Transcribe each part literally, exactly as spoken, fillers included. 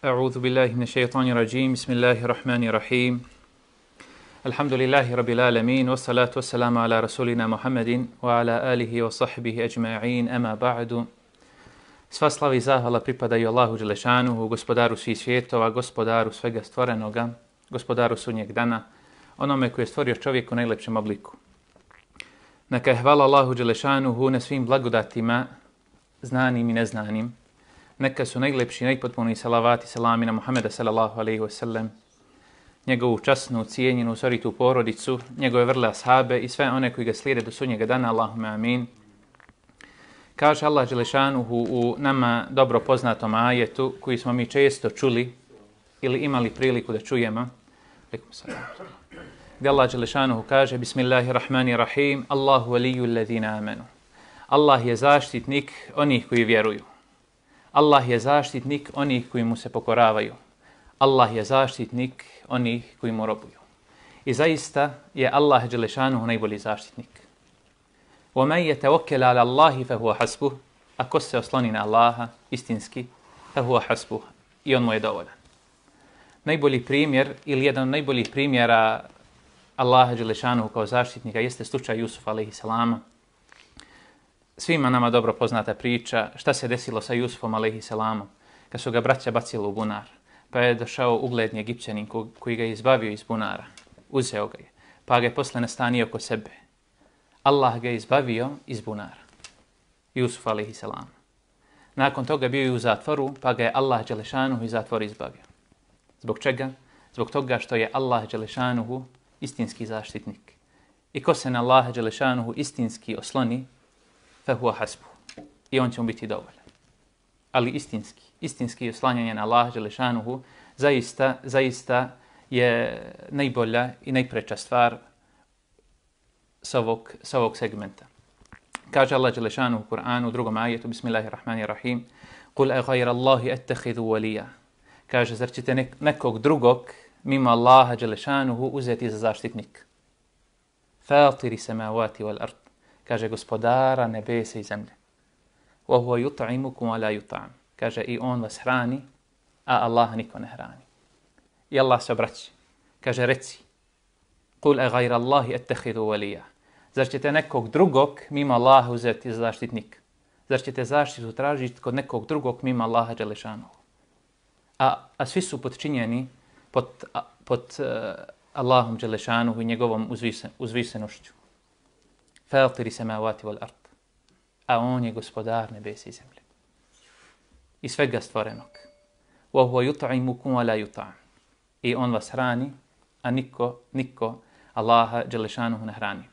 أعوذ بالله من الشيطان الرجيم بسم الله الرحمن الرحيم الحمد لله رب العالمين والصلاة والسلام على رسولنا محمد وعلى آله وصحبه أجمعين أما بعد. Sva slava i zahvala pripadaju Allahu Đelešanuhu, gospodaru svih svjetova, gospodaru svega stvorenoga, gospodaru sudnjeg dana, onome koji je stvorio čovjeka u najlepšem obliku. Neka je hvala Allahu Đelešanuhu na svim blagodatima, znanim i neznanim. Neka su najlepši, najpotpuniji salavati, salami na Muhammeda sallallahu alaihi wa sallam, njegovu časnu, cijenjenu, soritu porodicu, njegove vrle ashabe i sve one koji ga slijede do sudnjega dana, Allahume amin. Kaže Allah Đelešanuhu u nama dobro poznatom ajetu koji smo mi često čuli ili imali priliku da čujemo. Gdje Allah Đelešanuhu kaže Bismillahirrahmanirrahim Allahu waliju alladhina amanu. Allah je zaštitnik onih koji vjeruju. Allah je zaštitnik onih koji mu se pokoravaju. Allah je zaštitnik onih koji mu robuju. I zaista je Allah Đelešanuhu najbolji zaštitnik. وَمَنْ يَتَوَكَّلَ عَلَى اللَّهِ فَهُوَ حَسْبُهُ. Ako se osloni na Allaha, istinski, فَهُوَ حَسْبُهُ. I on mu je dovoljan. Najbolji primjer ili jedan od najboljih primjera Allaha Đelešanuhu kao zaštitnika jeste slučaj Jusufa alejhi selama. Svima nama dobro poznata priča šta se desilo sa Jusufom alejhi selamom kad su ga braća bacili u bunar. Pa je došao ugledni Egipćanin koji ga je izbavio iz bunara. Uzeo ga je. Pa ga je posle nastanio oko sebe. Allah ga je izbavio iz bunara. Jusuf alejhi selam. Nakon toga bio je u zatvoru, pa ga je Allah Đelešanuhu iz zatvora izbavio. Zbog čega? Zbog toga što je Allah Đelešanuhu istinski zaštitnik. I ko se na Allah Đelešanuhu istinski osloni, fehuwa hasbuh. I on će mu biti dovoljan. Ali istinski, istinski oslanjanje na Allah Đelešanuhu zaista, zaista je najbolja i najpreča stvar s ovog, s ovog segmenta. Kaže Allah Đelešanuhu u Kur'anu u drugom ajetu, Bismillahirrahmanirrahim, Qul a ghayra Allahi attakhidhu waliya. Kaže, zar ćete nek nekog drugog mimo Allaha Đelešanuhu uzeti za zaštitnik? Fatiri samawati wal ard. Kaže, gospodara nebesa i zemlje. Wa huwa yut'imukum wa la yut'am. Kaže, i on vas hrani, a Allah niko ne hrani. I Allah se obraća. Kaže, reci, Qul a ghayra Allahi attakhidhu waliya. Zar ćete nekog drugog mimo Allaha uzeti za zaštitnik? Zar ćete zaštitu tražiti kod nekog drugog mimo Allaha Đelešanuhu? A, a svi su podčinjeni pod, pod uh, Allahom Đelešanuhu i njegovom uzvisen, uzvisenošću. Fatiri samawati wal ard. A on je gospodar nebesa i zemlje. I svega stvorenog. Wa huwa yut'imukum wa la yut'am. I on vas hrani, a niko, niko Allaha Đelešanuhu ne hrani.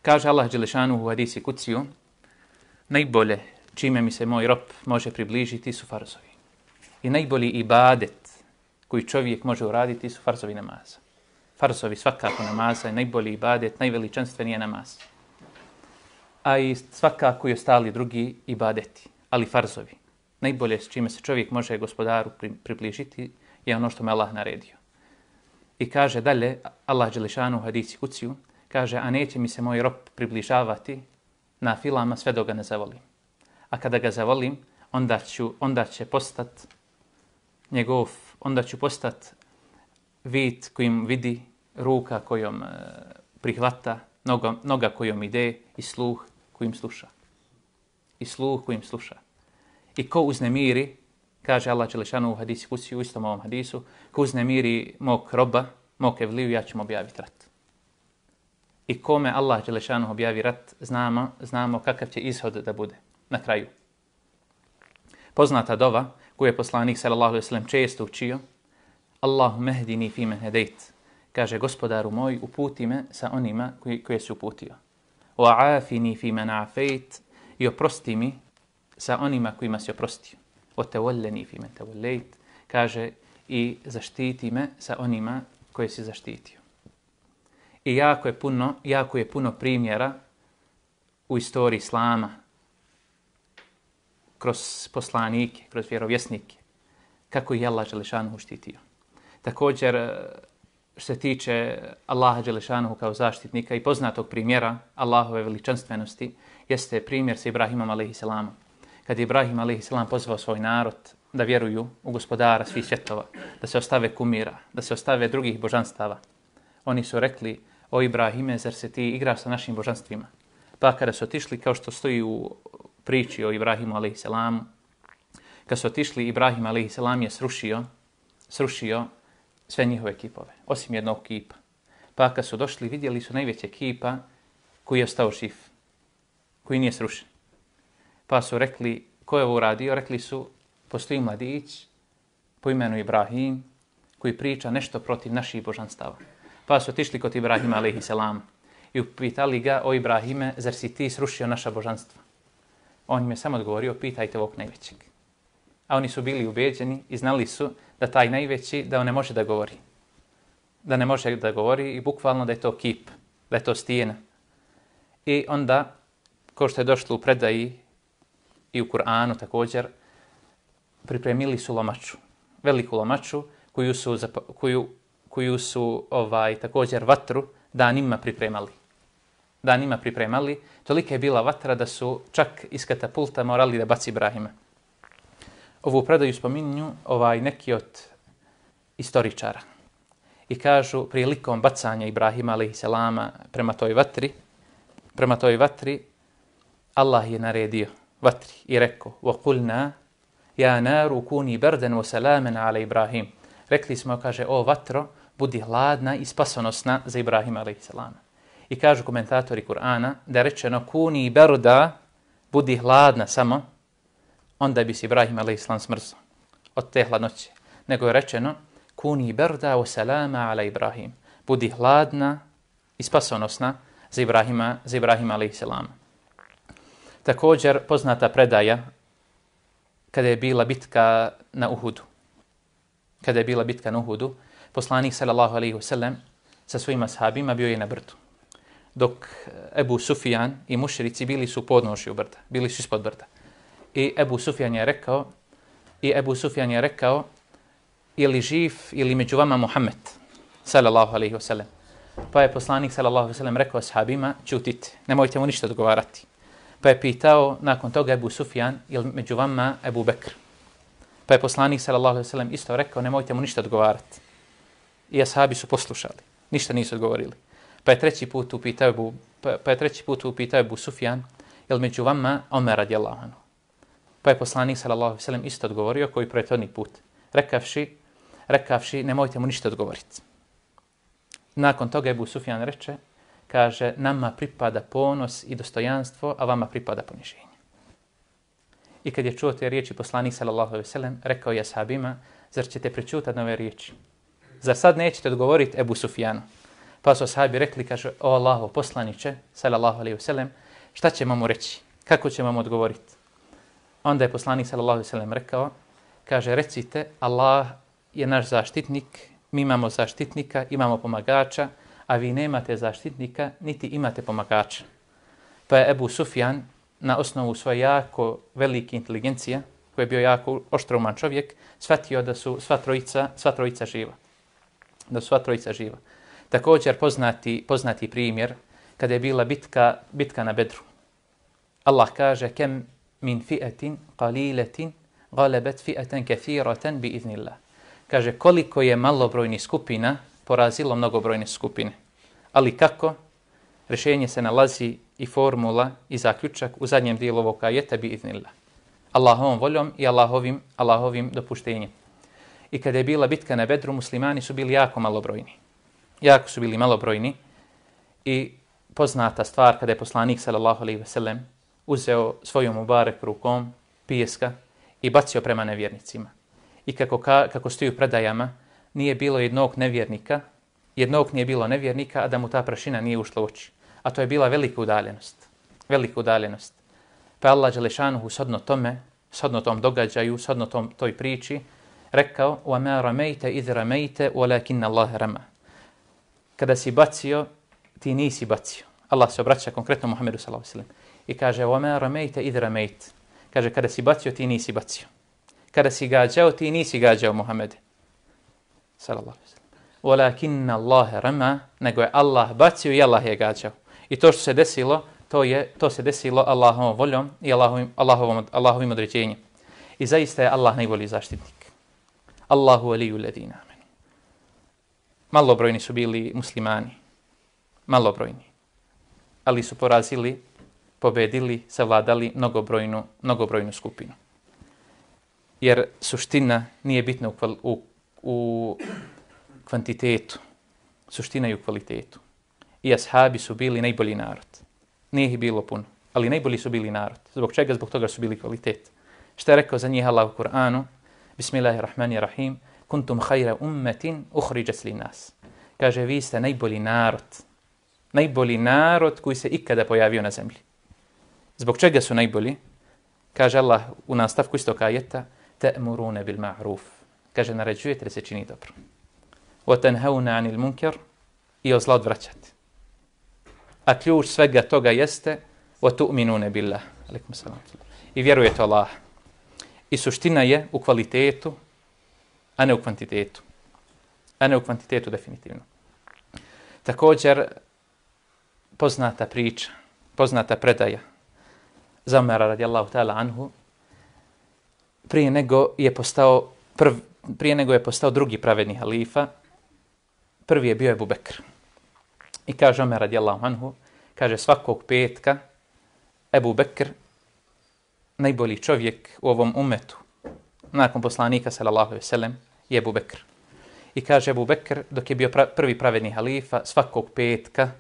Kaže Allah Đelešanuhu u hadisi kuciju, najbolje čime mi se moj rob može približiti su farzovi. I najbolji ibadet koji čovjek može uraditi su farzovi namaza. Farzovi svakako namaza je najbolji ibadet, najveličanstveniji je namaz. A i svakako i ostali drugi ibadeti, ali farzovi. Najbolje s čime se čovjek može gospodaru približiti je ono što me Allah naredio. I kaže dalje, Allah Đelešanuhu u hadisi kuciju, kaže, a neće mi se moj rob približavati na filama sve dok ga ne zavolim. A kada ga zavolim, onda, ću, onda će postat njegov, onda ću postat vid kojim vidi, ruka kojom e, prihvata, noga, noga kojom ide i sluh kojim sluša. I sluh kojim sluša. I ko uznemiri, kaže Allah Đelešanuhu u hadisi kuciju, u istom ovom hadisu, ko uznemiri mog roba, mog evliju, ja ću mu objaviti rat. I kome Allah Đelešanuhu objavi rat, znamo, znamo kakav će ishod da bude na kraju. Poznata dova koju je poslanik sallallahu alejhi ve sellem često učio, Allahumma hdini fi man hadait. Kaže, gospodaru moj, uputi me sa onima koji, koje si uputio. Wa afini fi man afait. I oprosti mi sa onima kojima si oprostio. Wa tawallani fi man tawallait. Kaže, i zaštiti me sa onima koje si zaštitio. I jako je puno, jako je puno primjera u istoriji Islama, kroz poslanike, kroz vjerovjesnike, kako je Allah Đelešanuhu štitio. Također, što se tiče Allaha Đelešanuhu kao zaštitnika i poznatog primjera Allahove veličanstvenosti, jeste primjer sa Ibrahimom alejhi selamom. Kad je Ibrahim alejhi selam pozvao svoj narod da vjeruju u gospodara svih svjetova, da se ostave kumira, da se ostave drugih božanstava. Oni su rekli, o Ibrahime, zar se ti igraš sa našim božanstvima? Pa kada su otišli, kao što stoji u priči o Ibrahimu alejselamu, kad su otišli, Ibrahim alejselam je srušio, srušio sve njihove kipove, osim jednog kipa. Pa kad su došli, vidjeli su najveće kipa koji je ostao živ, koji nije srušen. Pa su rekli, ko je ovo uradio? Rekli su, postoji mladić po imenu Ibrahim koji priča nešto protiv naših božanstava. Pa su otišli kod Ibrahima alejselam i upitali ga, o Ibrahime, zar si ti srušio naša božanstva? On im je samo odgovorio, pitajte ovog najvećeg. A oni su bili ubeđeni i znali su da taj najveći, da on ne može da govori. Da ne može da govori i bukvalno da je to kip, da je to stijena. I onda, kao što je došlo u predaji i u Kur'anu također, pripremili su lomaču, veliku lomaču koju su, koju, koju su ovaj, također vatru danima pripremali. Danima pripremali. Tolika je bila vatra da su čak iz katapulta morali da baci Ibrahima. Ovu predaju spominju ovaj, neki od istoričara. I kažu, prilikom bacanja Ibrahima alejselama prema toj vatri, prema toj vatri, Allah je naredio vatri i rekao, وَقُلْنَا يَا نَارُ كُونِي بَرْدًا وَسَلَامًا عَلَى Ibrahim. Rekli smo, kaže, o vatro, budi hladna i spasonosna za Ibrahima alejselama. I kažu komentatori Kur'ana da je rečeno kuni berda, budi hladna samo, onda bi se Ibrahim alejselam smrzao od te hladnoće. Nego je rečeno kuni berda wa salama ala Ibrahim, budi hladna i spasonosna za Ibrahima, za Ibrahima alejselam. Također poznata predaja kada je bila bitka na Uhudu. Kada je bila bitka na Uhudu, poslanik sallallahu alejhi ve sellem sa svojim ashabima bio je na brdu. Dok Ebu Sufjan i mušrici bili su podnošju brda, bili su ispod brda. I Ebu Sufjan je rekao, i Ebu Sufjan je rekao, ili živ ili među vama Muhammed, sallallahu alejhi ve sellem. Pa je poslanik sallallahu alejhi ve sellem rekao ashabima, ćutite, nemojte mu ništa odgovarati. Pa je pitao nakon toga Ebu Sufjan, ili među vama Ebu Bekr. Pa je poslanik sallallahu alejhi ve sellem isto rekao, nemojte mu ništa odgovarati. I ashabi su poslušali, ništa nisu odgovorili. Pa je treći put upitao Ebu, pa, pa je treći put upitao Ebu Sufjan, jel među vama Omer radijallahu anhu. Pa je poslanik sallallahu alejhi ve sellem isto odgovorio koji prethodni put, rekavši, rekavši nemojte mu ništa odgovoriti. Nakon toga Ebu Sufjan reče, kaže, nama pripada ponos i dostojanstvo, a vama pripada poniženje. I kad je čuo te riječi poslanik sallallahu alejhi ve sellem, rekao je ashabima, zar ćete prečutati na ove riječi? Zar sad nećete odgovoriti Ebu Sufjanu? Pa su ashabi rekli, kaže, o Allahov poslaniče, sallallahu alejhi ve sellem, šta ćemo mu reći? Kako ćemo mu odgovoriti? Onda je poslanik sallallahu alejhi ve sellem rekao, kaže, recite, Allah je naš zaštitnik, mi imamo zaštitnika, imamo pomagača, a vi nemate zaštitnika, niti imate pomagača. Pa je Ebu Sufjan na osnovu svoje jako velike inteligencije, koji je bio jako oštrouman čovjek, shvatio da su sva trojica, sva trojica živa. Da su sva trojica živa. Također poznati, poznati primjer kada je bila bitka, bitka na Bedru. Allah kaže, kem min fi'atin qalilatin galabat fi'atan kathiratan bi iznillah. Kaže, koliko je malobrojni skupina porazilo mnogobrojne skupine. Ali kako? Rješenje se nalazi i formula i zaključak u zadnjem dijelu ovog ajeta bi iznillah. Allahovom voljom i Allahovim, Allahovim dopuštenjem. I kada je bila bitka na Bedru, muslimani su bili jako malobrojni. Jako su bili malobrojni i poznata stvar kada je poslanik sallallahu alejhi ve sellem uzeo svojom mubarek rukom pijeska i bacio prema nevjernicima. I kako, ka, kako stoji u predajama, nije bilo jednog nevjernika, jednog nije bilo nevjernika, a da mu ta prašina nije ušla u oči. A to je bila velika udaljenost. Velika udaljenost. Pa Allah dželešanuhu shodno tome, shodno tom događaju, shodno tom, toj priči, rekao وَمَا رَمَيْتَ إِذْ رَمَيْتَ وَلَكِنَّ اللَّهَ رَمَى. Kada si bacio, ti nisi bacio. Allah se obraća konkretno Muhammedu sallallahu alejhi ve sellem i kaže وَمَا رَمَيْتَ إِذْ رَمَيْتَ. Kaže, kada si bacio, ti nisi bacio. Kada si gađao, ti nisi gađao Muhammede sallallahu alejhi ve sellem. وَلَكِنَّ اللَّهَ رَمَى. Nego je Allah bacio i Allah je gađao. I to što se desilo, to je to se desilo Allahovom voljom i Allahovim, Allahovom, Allahovim određenjem. I zaista je Allah najbolji zaštitnik. Allahu waliju ledina amenu. Malobrojni su bili muslimani. Malobrojni. Ali su porazili, pobedili, savladali mnogobrojnu, mnogobrojnu skupinu. Jer suština nije bitna u, kval, u, u kvantitetu. Suština je u kvalitetu. I ashabi su bili najbolji narod. Nije ih bilo puno, ali najbolji su bili narod. Zbog čega? Zbog toga su bili kvalitet. Šta je rekao za njih Allah u Kur'anu? Bismillahirrahmanirrahim. Kuntum khayra ummetin ukhrijat lin-nas. Kaže, vi ste najbolji narod. Najbolji narod koji se ikada pojavio na zemlji. Zbog čega su najbolji? Kaže Allah u nastavku istog ajeta: ta'muruna bil ma'ruf. Kaže, naređujete da se čini dobro. Wa tanhauna 'anil munkar, i od zla odvraćate. A ključ svega toga jeste wa tu'minuna billah. Alejkum selam. I vjerujete Allah. I suština je u kvalitetu, a ne u kvantitetu. A ne u kvantitetu definitivno. Također, poznata priča, poznata predaja za Omera radijallahu ta'ala anhu, prije nego je postao prv, prije nego je postao drugi pravedni halifa, prvi je bio Ebu Bekr. I kaže Omer radijallahu anhu, kaže, svakog petka Ebu Bekr, najbolji čovjek u ovom umetu, nakon poslanika sallallahu alejhi ve sellem, je Ebu Bekr. I kaže Ebu Bekr, dok je bio pra, prvi pravedni halifa, svakog petka,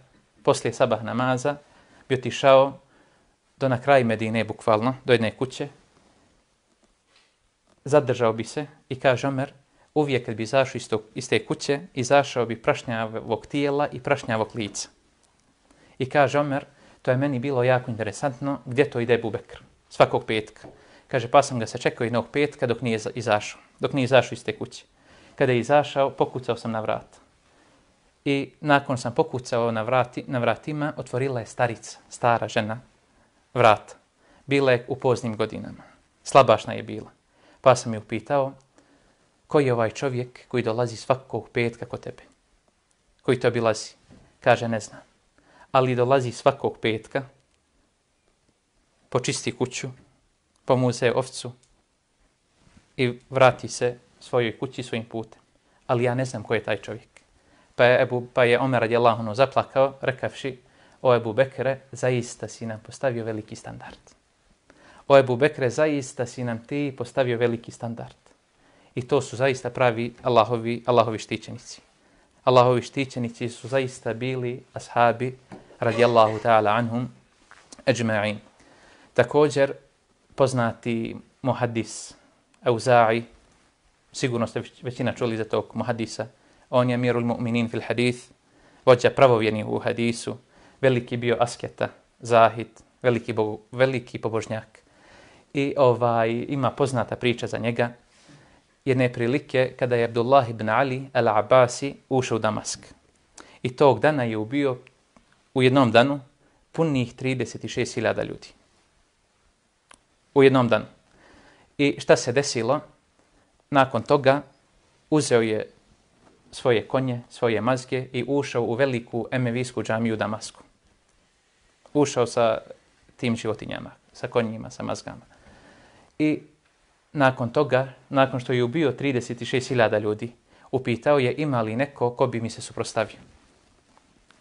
poslije sabah namaza, bi otišao do na kraj Medine, bukvalno, do jedne kuće, zadržao bi se i kaže Omer, uvijek kad bi izašao iz, iz te kuće, izašao bi prašnjavog tijela i prašnjavog lica. I kaže Omer, to je meni bilo jako interesantno, gdje to ide Ebu Bekr, svakog petka. Kaže, pa sam ga se čekao jednog petka dok nije izašao, dok nije izašao iz te kuće. Kada je izašao, pokucao sam na vrat. I nakon sam pokucao na, vrati, na vratima, otvorila je starica, stara žena, vrata. Bila je u poznim godinama. Slabašna je bila. Pa sam je upitao, koji je ovaj čovjek koji dolazi svakog petka kod tebe? Koji to obilazi? Kaže, ne znam. Ali dolazi svakog petka, počisti kuću, pomuze ovcu i vrati se svojoj kući svojim putem. Ali ja ne znam ko je taj čovjek. Pa je, Ebu, pa je Omer radijallahu anhu zaplakao, rekavši, o Ebu Bekre, zaista si nam postavio veliki standard. O Ebu Bekre, zaista si nam ti postavio veliki standard. I to su zaista pravi Allahovi, Allahovi štićenici. Allahovi štićenici su zaista bili ashabi radijallahu ta'ala anhum ajma'in. Također, poznati muhaddis Auza'i, sigurno ste većina čuli za tog muhaddisa, on je amirul mu'minin fil hadith, vođa pravovjernih u hadisu, veliki bio asketa, zahid, veliki, bo, veliki pobožnjak. I ovaj ima poznata priča za njega, jedne prilike kada je Abdullah ibn Ali al-Abasi ušao u Damask. I tog dana je ubio u jednom danu punih trideset šest hiljada ljudi. U jednom danu. I šta se desilo? Nakon toga uzeo je svoje konje, svoje mazge i ušao u veliku emevijsku džamiju u Damasku. Ušao sa tim životinjama, sa konjima, sa mazgama. I nakon toga, nakon što je ubio trideset šest hiljada ljudi, upitao je ima li neko ko bi mi se suprotstavio.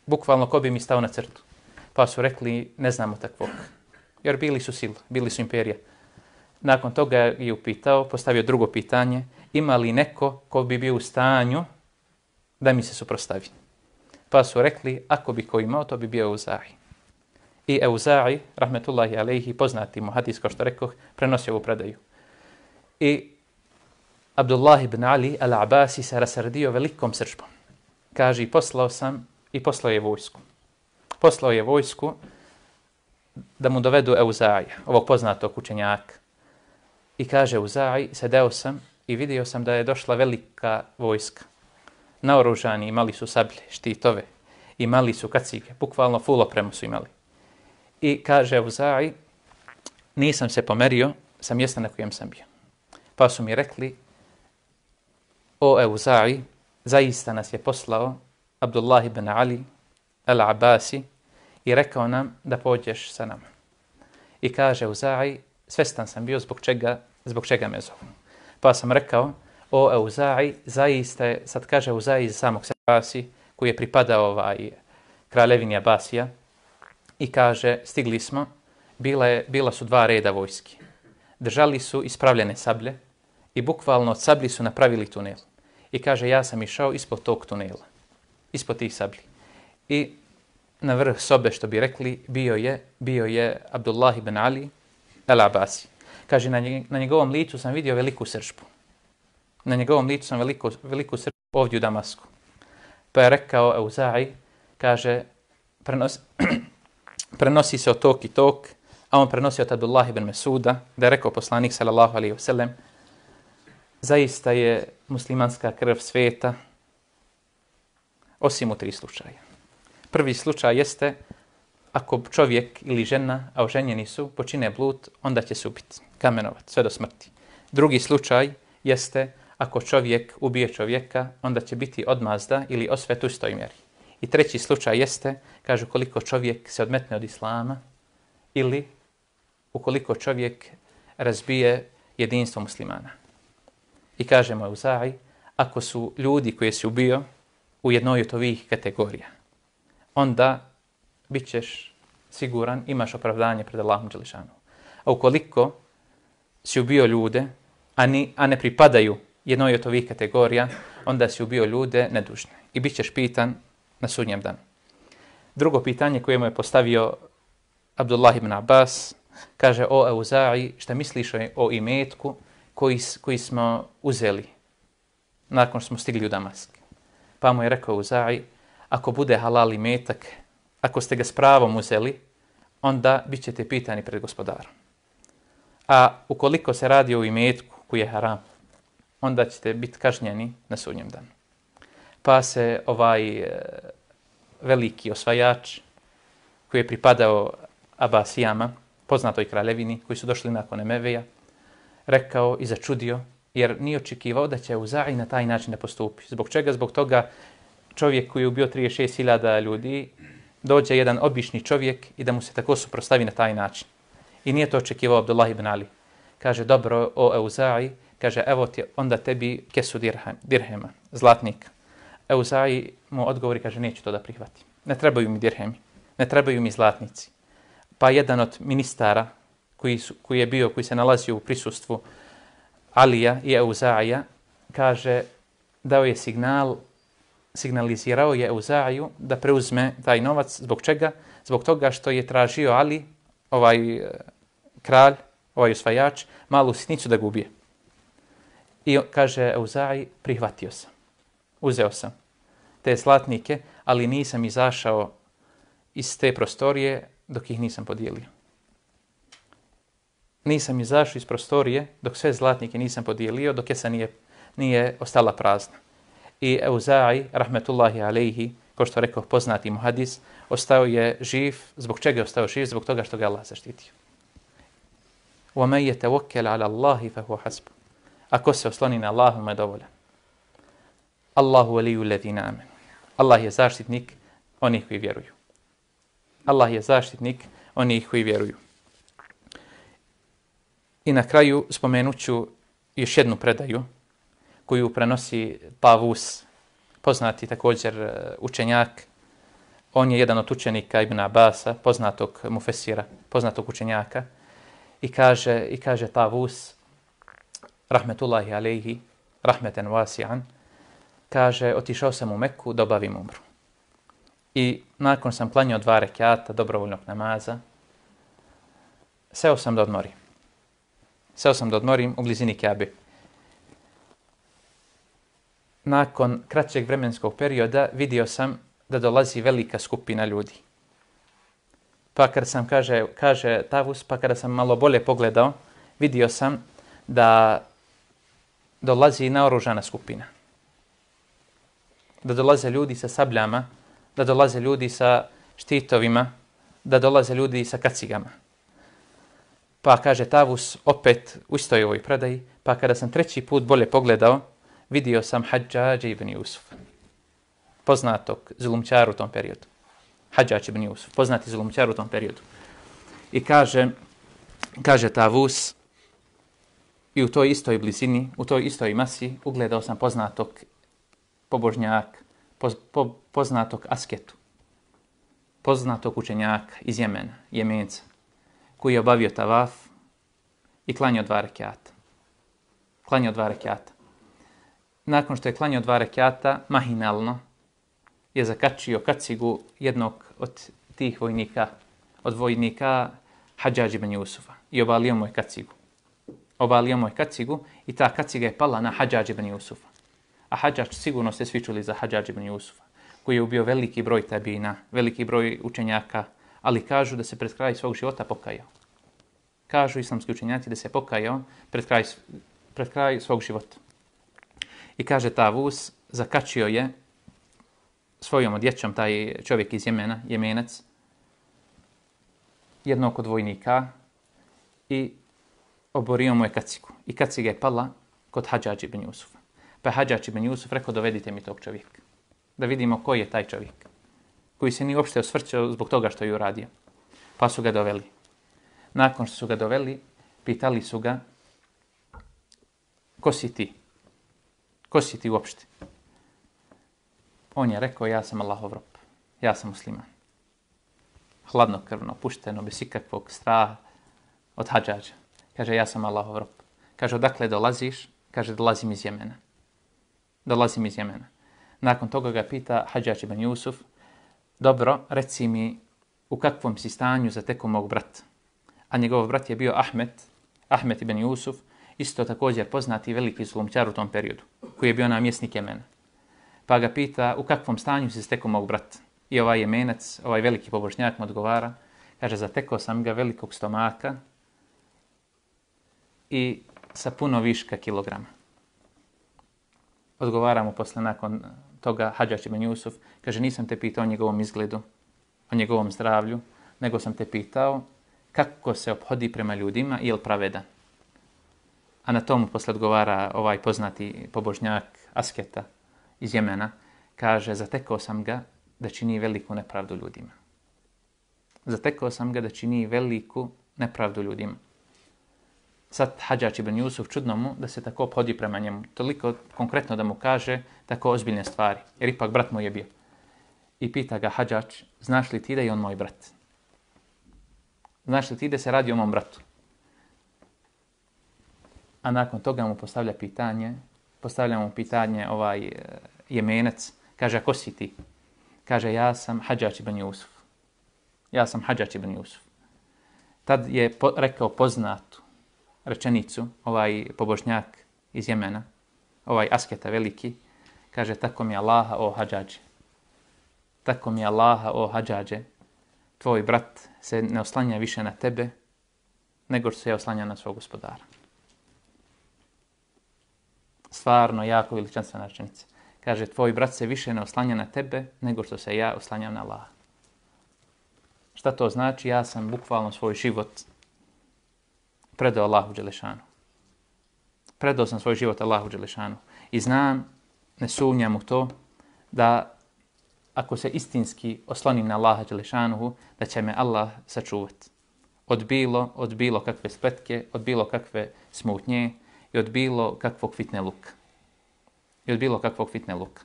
Bukvalno ko bi mi stao na crtu. Pa su rekli ne znamo takvog. Jer bili su sila, bili su imperija. Nakon toga je upitao, postavio drugo pitanje, ima li neko ko bi bio u stanju da mi se suprotstavi. Pa su rekli, ako bi ko imao, to bi bio Auza'i. I Auza'i, rahmetullahi alejhi, poznati muhadis, kao što rekoh, prenosio ovu predaju. I Abdullah ibn Ali al-Abasi se rasrdio velikom srdžbom. Kaže, poslao sam i poslao je vojsku. Poslao je vojsku da mu dovedu Auza'i, ovog poznatog učenjaka. I kaže Auza'i, sedeo sam i vidio sam da je došla velika vojska. Naoružani, imali su sablje, štitove, imali su kacige, bukvalno full opremu su imali. I kaže Auza'i, nisam se pomerio sa mjesta na kojem sam bio. Pa su mi rekli, o Auza'i, zaista nas je poslao Abdullah ibn Ali al-Abasi i rekao nam da pođeš sa nama. I kaže Auza'i, svestan sam bio zbog čega zbog čega me zovu. Pa sam rekao, o Euza'i, zaista je, sad kaže Euza'i iz samog Abasi, koji je pripadao ovaj kraljevini Abasija, i kaže, stigli smo, bila, je, bila su dva reda vojski. Držali su ispravljene sablje i bukvalno od sablji su napravili tunel. I kaže, ja sam išao ispod tog tunela, ispod tih sablji. I na vrh sobe, što bi rekli, bio je, bio je Abdullah ibn Ali el-Abasi. Kaže, na, nje, na njegovom licu sam vidio veliku sržbu. Na njegovom licu sam veliku, veliku sržbu ovdje u Damasku. Pa je rekao Euza'i, kaže, prenos, prenosi se od tok i tok, a on prenosi od Abdullah ibn Mesuda, da je rekao poslanik sallallahu alaihi wasallam, zaista je muslimanska krv sveta, osim u tri slučaja. Prvi slučaj jeste, ako čovjek ili žena, a oženjeni su, počine blud, onda će se ubiti, kamenovat, sve do smrti. Drugi slučaj jeste, ako čovjek ubije čovjeka, onda će biti odmazda ili osvet u istoj mjeri. I treći slučaj jeste, kažu, koliko čovjek se odmetne od islama ili ukoliko čovjek razbije jedinstvo muslimana. I kažemo Euza'i, ako su ljudi koji si ubio u jednoj od ovih kategorija, onda bit ćeš siguran, imaš opravdanje pred Allahom dželešanu. A ukoliko si ubio ljude, a, ni, a ne pripadaju jednoj od ovih kategorija, onda si ubio ljude nedužne. I bit ćeš pitan na sudnjem danu. Drugo pitanje koje mu je postavio Abdullah ibn Abbas, kaže, o Euza'i, šta misliš o imetku koji, koji smo uzeli nakon što smo stigli u Damask? Pa mu je rekao Euza'i, ako bude halal imetak, ako ste ga s pravom uzeli, onda bit ćete pitani pred gospodarom. A ukoliko se radi o imetku koji je haram, onda ćete biti kažnjeni na sudnjem danu. Pa se ovaj e, veliki osvajač koji je pripadao Abasijama, poznatoj kraljevini, koji su došli nakon Emeveja, rekao i začudio, jer nije očekivao da će Euza'i na taj način da postupi. Zbog čega? Zbog toga čovjek koji je ubio trideset šest hiljada ljudi, dođe jedan obični čovjek i da mu se tako suprotstavi na taj način. I nije to očekivao Abdullah ibn Ali. Kaže, dobro, o Euza'i, kaže, evo ti onda tebi kesu dirhem, dirhema, zlatnika. Euza'i mu odgovori, kaže, neću to da prihvatim. Ne trebaju mi dirhemi, ne trebaju mi zlatnici. Pa jedan od ministara koji, su, koji je bio, koji se nalazio u prisustvu Alija i Euza'ija, kaže, dao je signal, signalizirao je Euza'iju da preuzme taj novac. Zbog čega? Zbog toga što je tražio Ali, ovaj e, kralj, ovaj osvajač, malu sitnicu da ga ubije. I kaže Euza'i, prihvatio sam, uzeo sam te zlatnike, ali nisam izašao iz te prostorije dok ih nisam podijelio. Nisam izašao iz prostorije dok sve zlatnike nisam podijelio, dok jesa nije, nije ostala prazna. I Euza'i, rahmetullahi alejhi, kao što rekao poznati mu hadis, ostao je živ. Zbog čega je ostao živ? Zbog toga što ga Allah zaštitio. وَمَنْ يَتَوَكَّلَ عَلَى اللَّهِ فَهُوَ حَسْبُ. Ako se osloni na Allahu, mu je dovoljan. Allahu waliyyu alladhina amanu. Allah je zaštitnik onih koji vjeruju. Allah je zaštitnik onih koji vjeruju. I na kraju spomenuću još jednu predaju koju prenosi Tavus, poznati također učenjak. On je jedan od učenika Ibn Abasa, poznatog mufesira, poznatog učenjaka. I kaže, i kaže Tavus, rahmetullahi alejhi, rahmeten wasi'an, kaže, otišao sam u Meku da obavim umru. I nakon sam klanjao dva rekata dobrovoljnog namaza, seo sam da odmorim. Seo sam da odmorim u blizini Kabe. Nakon kraćeg vremenskog perioda vidio sam da dolazi velika skupina ljudi. Pa kada sam, kaže, kaže Tavus, pa kada sam malo bolje pogledao, vidio sam da dolazi naoružana skupina. Da dolaze ljudi sa sabljama, da dolaze ljudi sa štitovima, da dolaze ljudi sa kacigama. Pa kaže Tavus opet u istoj ovoj predaji, pa kada sam treći put bolje pogledao, vidio sam Hadžađa ibn Jusuf, poznatog zulumčara u tom periodu. Hadžađ ibn Jusuf, poznati zulumčar u tom periodu. I kaže, kaže Tavus, i u toj istoj blizini, u toj istoj masi ugledao sam poznatog pobožnjaka, poz, po, poznatog asketu, poznatog učenjaka iz Jemena, Jemenca, koji je obavio tavaf i klanjao dva rekata. Klanjao dva rekata. Nakon što je klanjao dva rekata, mahinalno je zakačio kacigu jednog od tih vojnika, od vojnika Hadžadž ibn Jusufa i obalio mu je kacigu. Obalio mu je kacigu i ta kaciga je pala na Hadžadž ibn Jusufa. A Hadžadž, sigurno ste svi čuli za Hadžadž ibn Jusufa, koji je ubio veliki broj tabina, veliki broj učenjaka, ali kažu da se pred kraj svog života pokajao. Kažu islamski učenjaci da se pokajao pred kraj, pred kraj svog života. I kaže Tavus, zakačio je svojom odjećom taj čovjek iz Jemena, Jemenac, jednog od vojnika i oborio mu je kacigu. I kaciga je pala kod Hadžadž ibn Jusufa. Pa je Hadžadž ibn Jusuf rekao, dovedite mi tog čovjeka. Da vidimo koji je taj čovjek. Koji se nije uopšte osvrćao zbog toga što je uradio. Pa su ga doveli. Nakon što su ga doveli, pitali su ga, ko si ti? Ko si ti uopšte? On je rekao, ja sam Allahov rob. Ja sam musliman. Hladnokrvno, pušteno, bez ikakvog straha od Hadžadža. Kaže, ja sam Allahov rob. Kaže, odakle dolaziš? Kaže, dolazim iz Jemena. Dolazim iz Jemena. Nakon toga ga pita Hadžadž ibn Jusuf, dobro, reci mi u kakvom si stanju zatekao mog brata. A njegov brat je bio Ahmed, Ahmed ibn Jusuf, isto također poznati veliki zulumčar u tom periodu, koji je bio namjesnik Jemena. Pa ga pita u kakvom stanju si zatekao mog brata. I ovaj Jemenac, ovaj veliki pobožnjak mu odgovara, kaže, zatekao sam ga velikog stomaka i sa puno viška kilograma. Odgovara mu posle nakon toga Hadžadž ibn Jusuf, kaže, nisam te pitao o njegovom izgledu, o njegovom zdravlju, nego sam te pitao kako se ophodi prema ljudima i je li pravedan. A na tomu posle odgovara ovaj poznati pobožnjak asketa iz Jemena, kaže, zatekao sam ga da čini veliku nepravdu ljudima. Zatekao sam ga da čini veliku nepravdu ljudima. Sad Hadžadž ibn Jusuf čudno mu da se tako ophodi prema njemu. Toliko konkretno da mu kaže tako ozbiljne stvari. Jer ipak brat mu je bio. I pita ga Hadžadž, znaš li ti da je on moj brat? Znaš li ti da se radi o mom bratu? A nakon toga mu postavlja pitanje, postavlja mu pitanje ovaj uh, Jemenac, kaže, a ko si ti? Kaže, ja sam Hadžadž ibn Jusuf. Ja sam Hadžadž ibn Jusuf. Tad je po, rekao poznatu rečenicu, ovaj pobožnjak iz Jemena, ovaj asketa veliki, kaže, tako mi Allaha o Hadžadže. Tako mi Allaha o Hadžadže. Tvoj brat se ne oslanja više na tebe, nego što se je oslanja na svog gospodara. Stvarno, jako veličanstvena rečenica. Kaže, tvoj brat se više ne oslanja na tebe, nego što se ja oslanjam na Allaha. Šta to znači? Ja sam bukvalno svoj život predao Allahu Đelešanu. Predao sam svoj život Allahu Đelešanu. I znam, ne sumnjam u to, da ako se istinski oslonim na Allaha Đelešanuhu, da će me Allah sačuvati. Od bilo, od bilo kakve spletke, od bilo kakve smutnje i od bilo kakvog fitne luka. I od bilo kakvog fitne luka.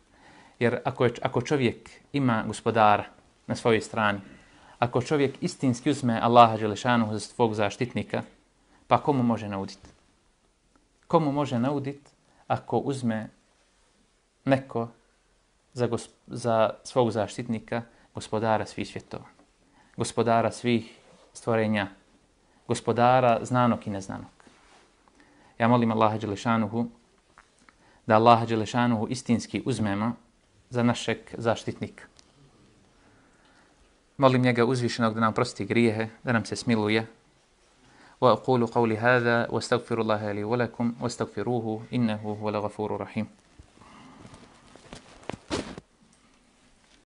Jer ako, je, ako čovjek ima gospodara na svojoj strani, ako čovjek istinski uzme Allaha Đelešanuhu za svog zaštitnika, pa komu može nauditi? Komu može nauditi ako uzme neko za, gosp- za svog zaštitnika, gospodara svih svjetova, gospodara svih stvorenja, gospodara znanog i neznanog. Ja molim Allaha Đelešanuhu da Allaha Đelešanuhu istinski uzmemo za našeg zaštitnika. Molim njega uzvišenog da nam prosti grijehe, da nam se smiluje. وأقول قولي هذا واستغفر الله لي ولكم واستغفروه إنه هو الغفور الرحيم.